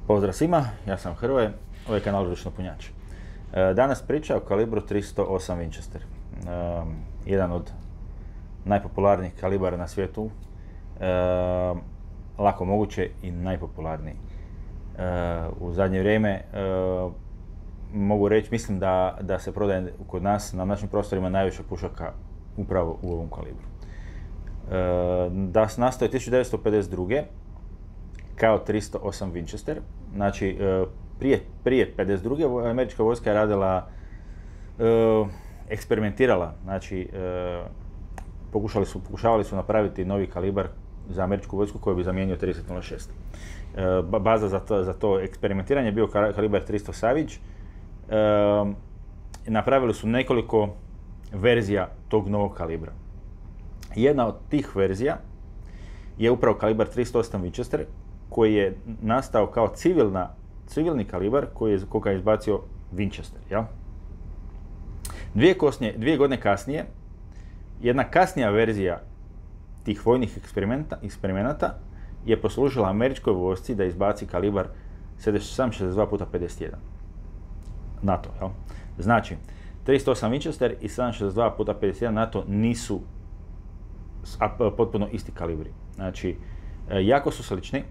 Pozdrav svima, ja sam Hrvoje, ovo je kanal Ručno punjač. Danas priča o kalibru 308 Winchester. Jedan od najpopularnijih kalibara na svijetu, lako moguće i najpopularniji. U zadnje vrijeme mogu reći, mislim da se prodaje kod nas, na našim prostorima, najviše pušaka upravo u ovom kalibru. Da se nastaje 1952. kao 308 Winchester, znači prije 52. američka vojska je radila, eksperimentirala, znači pokušavali su napraviti novi kalibar za američku vojsku koji bi zamijenio 30-06. Baza za to eksperimentiranje je bio kalibar 300 Savage. Napravili su nekoliko verzija tog novog kalibra. Jedna od tih verzija je upravo kalibar 308 Winchester, koji je nastao kao civilni kalibar koga je izbacio Winchester. Ja? Dvije godine kasnije, jedna kasnija verzija tih vojnih eksperimenata je poslužila američkoj vojsci da izbaci kalibar 762x51 NATO. Ja? Znači, 308 Winchester i 762x51 NATO nisu potpuno isti kalibri. Znači, jako su slični,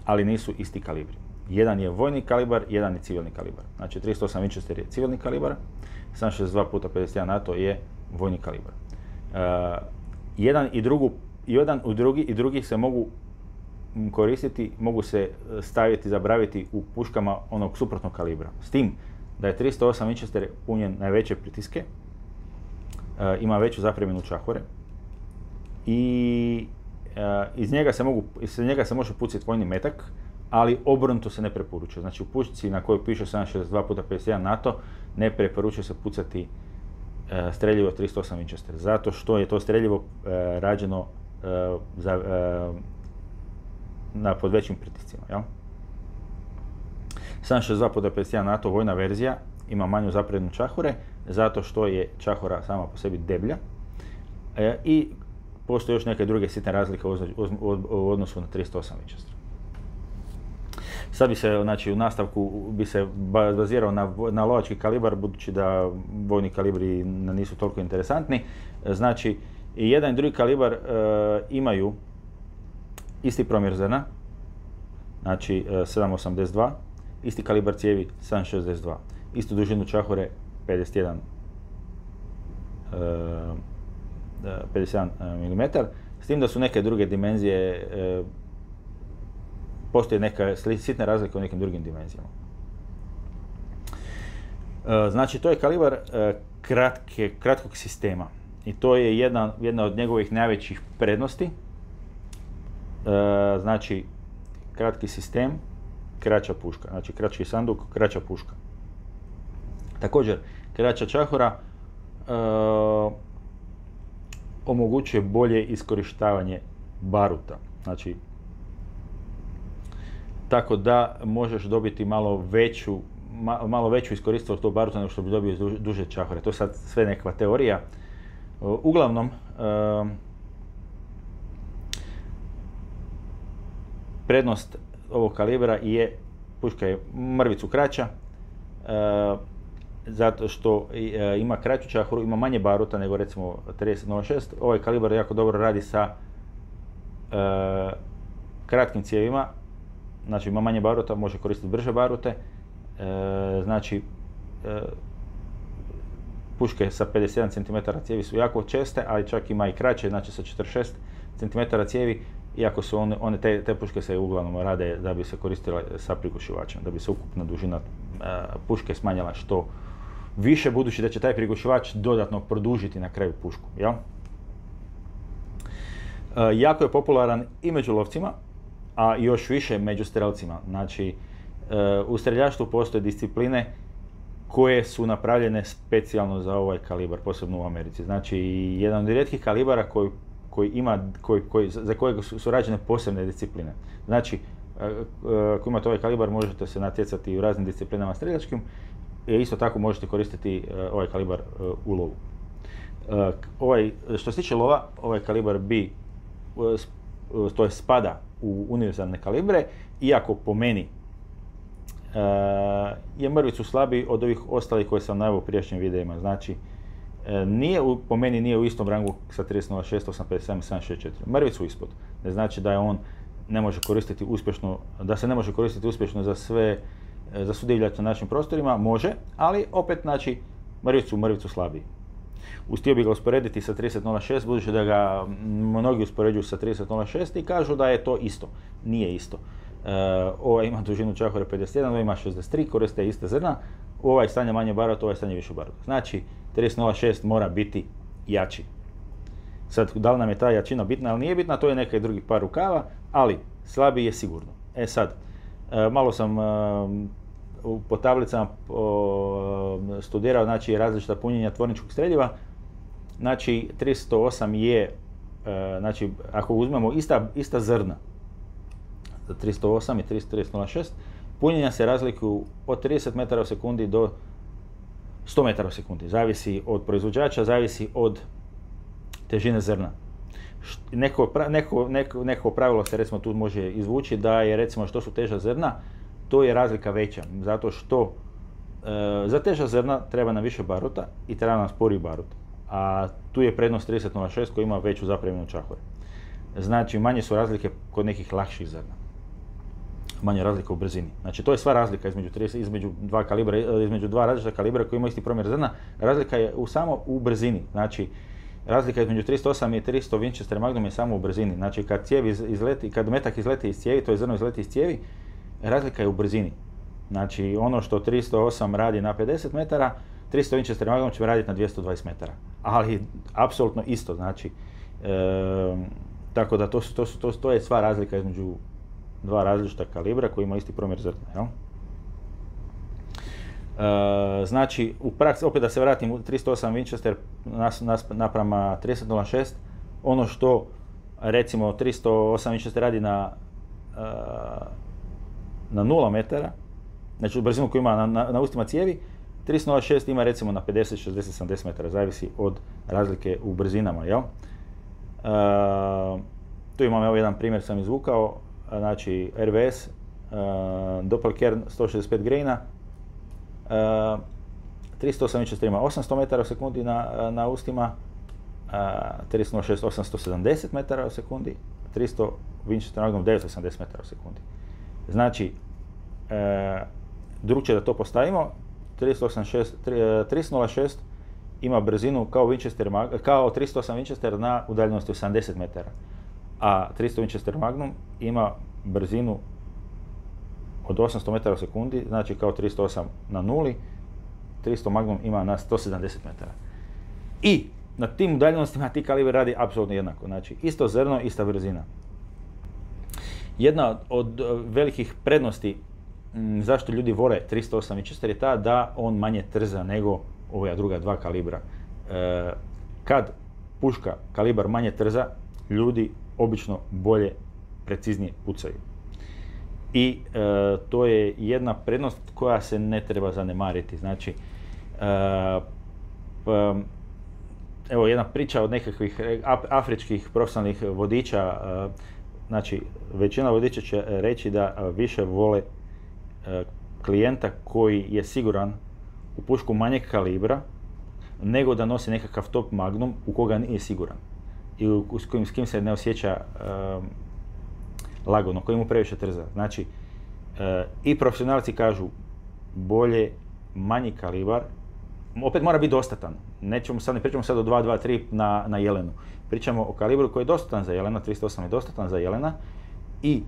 ali nisu isti kalibri. Jedan je vojni kalibar, jedan je civilni kalibar. Znači 308 Winchester je civilni kalibar, 762x51 NATO je vojni kalibar. Jedan i drugi se mogu koristiti, mogu se staviti, zabraviti u puškama onog suprotnog kalibra. S tim da je 308 Winchester punjen na veće pritiske, ima veću zapreminu čahore i iz njega se može pucati vojni metak, ali obrnuto se ne preporučuje. Znači u pušci na kojoj piše 762x51 NATO ne preporučuje se pucati streljivo 308 Winchester, zato što je to streljivo rađeno pod većim pritiscima. Ja? 762x51 NATO vojna verzija ima manju zapreminu čahure, zato što je čahora sama po sebi deblja i postoje još neke druge sitne razlike u odnosu na 308 Winchester. Sad bi se, znači, u nastavku bi se bazirao na lovački kalibar, budući da vojni kalibri nisu toliko interesantni. Znači, i jedan i drugi kalibar imaju isti promjer zrna, znači 7,82, isti kalibar cijevi 7,62, istu dužinu čahure 51 mm, s tim da su neke druge dimenzije, postoje neka sitna razlika u nekim drugim dimenzijama. Znači, to je kalibar kratkog sistema i to je jedna od njegovih najvećih prednosti. Znači, kratki sistem, kraća puška, znači kraći sanduk, kraća puška. Također, kraća čahura omogućuje bolje iskorištavanje baruta. Znači, tako da možeš dobiti malo veću iskoristivost tog baruta nego što bi dobio duže čahore. To je sad sve nekakva teorija. Uglavnom, prednost ovog kalibra je, puška je mrvicu kraća, zato što ima kraću čahuru, ima manje baruta nego recimo 30-06. Ovaj kalibar jako dobro radi sa kratkim cijevima, znači ima manje baruta, može koristiti brže barute. Znači, puške sa 57 cm cijevi su jako česte, ali čak ima i kraće, znači sa 46 cm cijevi, iako su te puške se uglavnom rade da bi se koristile sa prigušivačem, da bi se ukupna dužina puške smanjila što više, budući da će taj prigušivač dodatno produžiti na kraju pušku. Ja? Jako je popularan i među lovcima, a još više među strelcima. Znači, u streljaštvu postoje discipline koje su napravljene specijalno za ovaj kalibar, posebno u Americi. Znači, jedan od rijetkih kalibara za kojeg su rađene posebne discipline. Znači, ako imate ovaj kalibar, možete se natjecati u raznim disciplinama streljačkim, isto tako možete koristiti ovaj kalibar u lovu. Što se tiče lova, ovaj kalibar spada u univerzalne kalibre, iako po meni je mrvicu slabiji od ovih ostalih koje sam naveo u prijašnjim videima. Znači, po meni nije u istom rangu sa 30.06, 857, 764. Mrvicu ispod. Ne znači da je on ne može koristiti uspješno, da se ne može koristiti uspješno za svu divljač na našim prostorima, može, ali opet znači mrvicu slabiji. Htio bi ga usporediti sa 30.06, budući da ga mnogi uspoređuju sa 30.06 i kažu da je to isto. Nije isto. Ovaj ima dužinu čahore 51, ovaj ima 63, koriste iste zrna, ovaj stanje manje baruta, ovaj stanje više baruta. Znači, 30.06 mora biti jači. Sad, da li nam je ta jačina bitna ili nije bitna, to je neki drugi par rukava, ali slabiji je sigurno. Sad, malo sam po tablicama studirao, znači, različita punjenja tvorničkog streljiva. Znači, 308 je, znači, ako uzmemo ista zrna, za 308 i 30.06, punjenja se razlikuju od 30 metara u sekundi do 100 metara u sekundi. Zavisi od proizvođača, zavisi od težine zrna. Neko pravilo se recimo tu može izvući da je recimo što su teža zrna, to je razlika veća. Zato što za teža zrna treba nam više baruta i treba nam sporiji barut. A tu je prednost 30.06 koji ima veću zapreminu čahore. Znači manje su razlike kod nekih lakših zrna. Manje razlika u brzini. Znači to je sva razlika između dva različita kalibra koji imaju isti promjer zrna. Razlika je samo u brzini. Znači razlika između 308 i 300 Winchester Magnum je samo u brzini. Znači kad metak izleti iz cijevi, to je zrno izleti iz cijevi, razlika je u brzini. Znači ono što 308 radi na 50 metara, 300 Winchester Magnum će raditi na 220 metara. Ali apsolutno isto. Znači, tako da to je sva razlika između dva različita kalibra koji ima isti promjer zrna. Jel? Znači, u praksi, opet da se vratim u 308 Winchester naprama 30.06, ono što recimo 308 Winchester radi na 0 metara, znači brzinu koju ima na ustima cijevi, 30.06 ima recimo na 50, 60, 70 metara, zavisi od razlike u brzinama. Jel? Tu imam jedan primjer sam izvukao, znači RVS, Doppelkern 165 graina, 308 Winchester ima 800 metara u sekundi na ustima, 30.06 870 metara u sekundi, 300 Winchester Magnum 980 metara u sekundi. Znači, drugčije da to postavimo, 30.06 ima brzinu kao 308 Winchester na udaljenosti 80 metara, a 300 Winchester Magnum ima brzinu od 800 metara u sekundi, znači kao 308 na nuli, 300 Magnum ima na 170 metara. I na tim udaljenostima ti kalibri radi apsolutno jednako, znači isto zrno, ista brzina. Jedna od velikih prednosti zašto ljudi vole 308 Winchester je ta da on manje trza nego ova druga dva kalibra. Kad puška kalibar manje trza, ljudi obično bolje, preciznije pucaju. I to je jedna prednost koja se ne treba zanemariti. Znači, evo jedna priča od nekakvih afričkih profesionalnih vodiča. Znači, većina vodiča će reći da više vole klijenta koji je siguran u pušku manjeg kalibra nego da nosi nekakav top Magnum u koga nije siguran i s kim se ne osjeća lagodno, koji mu previše trza. Znači, i profesionalci kažu bolje manji kalibar, opet mora biti dostatan. Ne pričamo sad o 2.23 na jelenu. Pričamo o kalibru koji je dostatan za jelena, 308 je dostatan za jelena i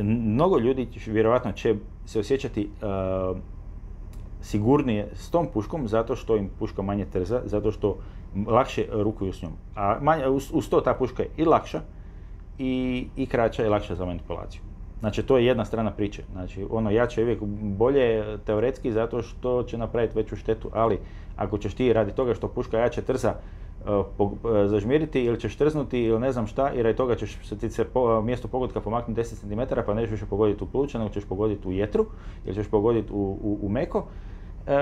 mnogo ljudi vjerojatno će se osjećati sigurnije s tom puškom zato što im puška manje trza, zato što lakše rukuju s njom. A uz to ta puška je i lakša i kraća i lakša za manipulaciju. Znači to je jedna strana priče. Znači ono jače je uvijek bolje teoretski zato što će napraviti veću štetu, ali ako ćeš ti radi toga što puška jače trza zažmiriti ili ćeš trznuti ili ne znam šta i radi toga ćeš se mjesto pogodka pomaknuti 10 cm pa nećeš više pogoditi u pluća nego ćeš pogoditi u jetru ili ćeš pogoditi u meko,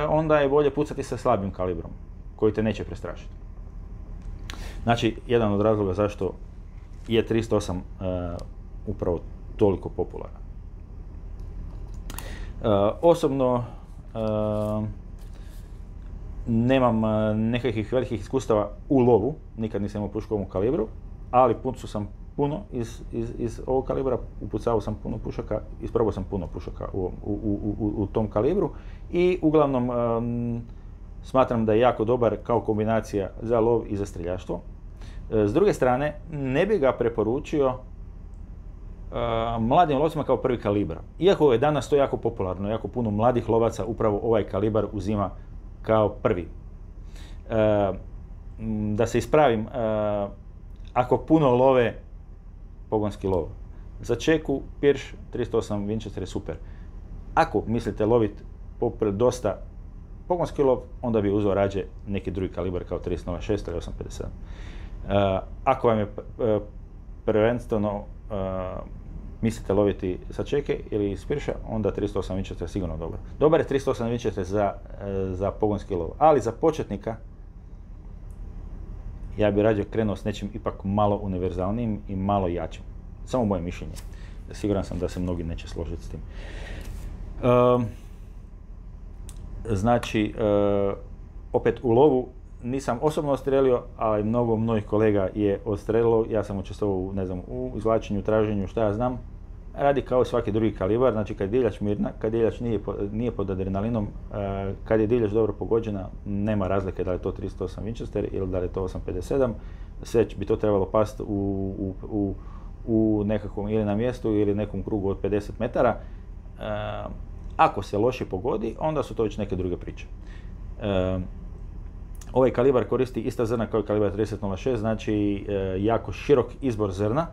onda je bolje pucati sa slabim kalibrom koji te neće prestrašiti. Znači jedan od razloga zašto je 308 upravo toliko popularan. Osobno nemam nekakvih velikih iskustava u lovu, nikad nisam imao pušku u ovom kalibru, ali pucao sam puno iz ovog kalibra, upucao sam puno pušaka, isprobao sam puno pušaka u tom kalibru i uglavnom smatram da je jako dobar kao kombinacija za lov i za streljaštvo. S druge strane, ne bi ga preporučio mladim lovcima kao prvi kalibar. Iako je danas to jako popularno, jako puno mladih lovaca upravo ovaj kalibar uzima kao prvi. Da se ispravim, ako puno love, pogonski lov. Za čeku, pirš, 308 Winchester je super. Ako mislite loviti dosta pogonski lov, onda bi uzeo rađe neki drugi kalibar kao 30.06 ili 8.57. Ako vam je prvenstveno mislite loviti sa čeke ili iz pirša, onda 308 Winchester je sigurno dobar. Dobar je 308 Winchester za pogonski lov, ali za početnika ja bih rađe krenuo s nečim ipak malo univerzalnijim i malo jačim. Samo moje mišljenje. Siguran sam da se mnogi neće složiti s tim. Znači, opet u lovu nisam osobno odstrelio, ali mnogo mojih kolega je odstrelilo. Ja sam učestvovao u izvlačenju, traženju, šta ja znam. Radi kao svaki drugi kalibar, znači kad je divljač mirna, kad divljač nije pod adrenalinom, kad je divljač dobro pogođena, nema razlike da li je to 308 Winchester ili da li je to 8.57. Sve bi to trebalo pasti u nekakvom ili na mjestu ili nekom krugu od 50 metara. Ako se loše pogodi, onda su to već neke druge priče. Ovaj kalibar koristi ista zrna kao i kalibar 30.06, znači jako širok izbor zrna.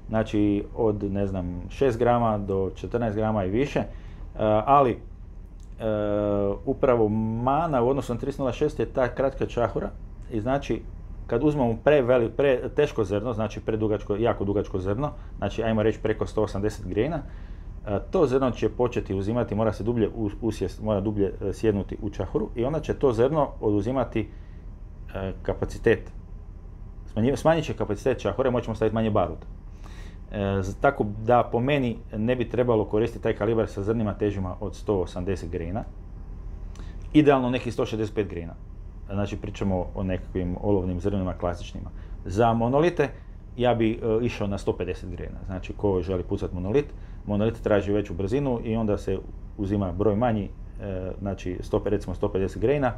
Znači od 6 grama do 14 grama i više, ali upravo mana u odnosu na 30.06 je ta kratka čahura i znači kad uzmemo teško zrno, znači jako dugačko zrno, znači ajmo reći preko 180 grena, to zrno će početi uzimati, mora dublje sjednuti u čahuru i onda će to zrno oduzimati kapacitet, smanjit će kapacitet čahure, moćemo staviti manje baruta. Tako da po meni ne bi trebalo koristiti taj kalibar sa zrnima težima od 180 grena. Idealno nekih 165 grena. Znači pričamo o nekakvim olovnim zrnima klasičnima. Za monolite ja bi išao na 150 grena. Znači ko želi pucati monolit traži veću brzinu i onda se uzima broj manji, znači recimo 150 grena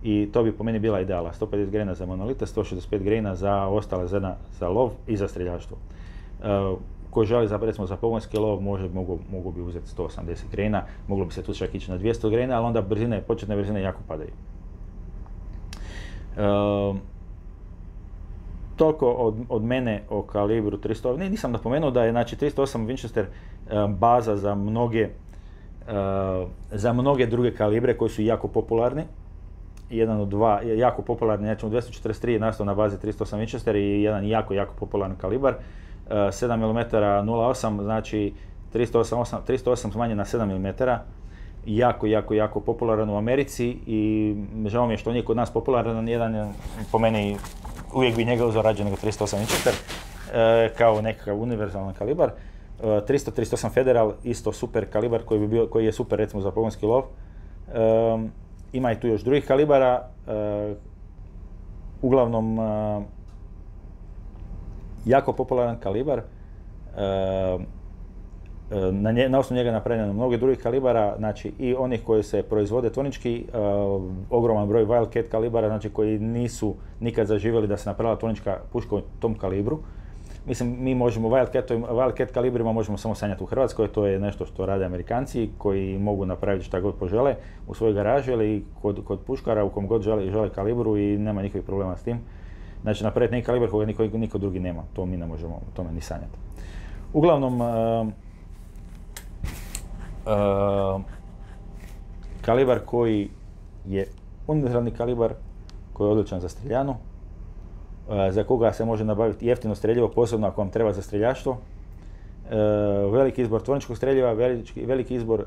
i to bi po meni bila ideala. 150 grena za monolite, 165 grena za ostale zrna za lov i za streljaštvo. Ko želi recimo za pogonski lov mogu bi uzeti 180 grena, moglo bi se tu čak ići na 200 grena, ali onda početne brzine jako padaju. Toliko od mene o kalibru 300. Nisam napomenuo da je 308 Winchester baza za mnoge druge kalibre koji su jako popularni. Jedan od dva jako popularni, znači 243 je nastao na bazi 308 Winchester i jedan jako popularan kalibar. 7 mm 0.8, znači 308 smanjen na 7 mm, jako popularan u Americi i žao mi je što nije kod nas popularan, jedan po meni uvijek bi njega uzeo rađe nego 308 Winchester kao nekakav univerzalan kalibar. 338 Federal, isto super kalibar koji je super recimo za pogonski lov. Ima i tu još drugih kalibara, uglavnom jako popularan kalibar, na osnovu njega je napravljeno mnogo drugih kalibara, znači i onih koji se proizvode tvornički, ogroman broj Wildcat kalibara, znači koji nisu nikad zaživjeli da se napravila tvornička puška u tom kalibru. Mislim, mi možemo Wildcat kalibrima možemo samo sanjati u Hrvatskoj, to je nešto što rade Amerikanci koji mogu napraviti šta god požele u svojoj garaži ili kod puškara u kom god žele kalibru i nema nikakvih problema s tim. Znači napraviti neki kalibar koga niko drugi nema, to mi ne možemo o tome ni sanjati. Uglavnom, kalibar koji je univerzalni kalibar, koji je odličan za streljanu, za koga se može nabaviti jeftino streljivo, posebno ako vam treba za streljaštvo. Veliki izbor tvorničkog streljiva, veliki izbor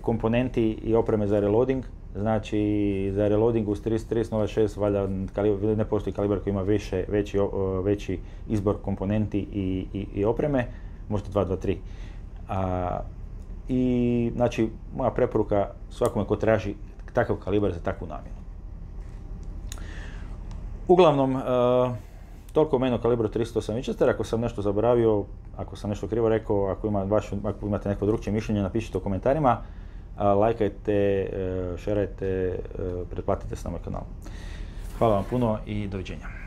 komponenti i opreme za reloading. Znači za reloading uz 30.06 valjda ne postoji kalibar koji ima veći izbor komponenti i opreme, možda 223. i znači moja preporuka svakome ko traži takav kalibar za takvu namjenu. Uglavnom, toliko o meni o kalibru 38 Winchester. Ako sam nešto zaboravio, ako sam nešto krivo rekao, ako imate neko drugčije mišljenje, napišite u komentarima, lajkajte, šerajte, pretplatite se na moj kanal. Hvala vam puno i doviđenja.